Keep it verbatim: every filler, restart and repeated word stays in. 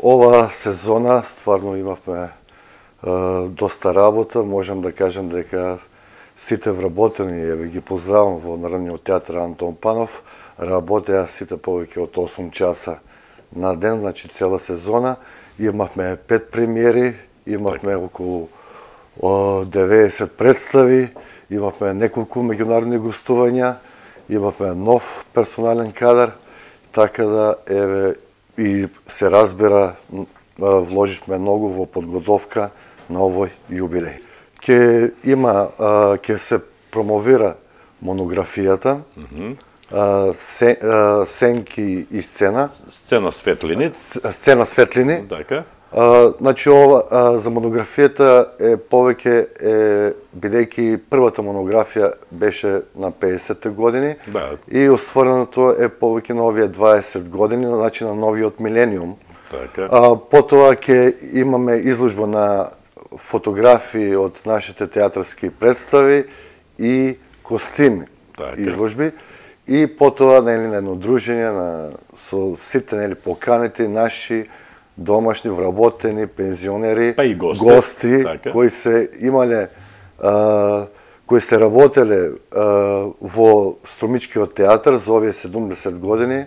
ова сезона стварно имавме е, доста работа, можам да кажам дека сите вработени, еве ги поздравам во Народниот театар Антон Панов, работеа сите повеќе од осум часа на ден, значи цела сезона. Имавме пет премиери, имавме околу деветдесет представи, имавме неколку меѓународни гостувања, имавме нов персонален кадар, така да еве и се разбира вложивме многу во подготовка на овој јубилеј. Ке има, ке се промовира монографијата, mm -hmm. се, сенки и сцена. Сцена светлини. Сцена светлини. Така. Uh, значи, ова uh, за монографијата е повеќе, е, бидејќи првата монографија беше на педесетте години, да. И осврнато е повеќе на овие дваесет години, значи на новиот милениум. Така. Uh, потоа ќе имаме изложба на фотографии од нашите театарски представи и костими, така. Изложби. И потоа нели, на едно дружење на, со сите нели, поканите наши домашни, вработени, пензионери, па и гости, гости така. Кои се имале, а, кои се работеле а, во Струмичкиот театар за овие седумдесет години.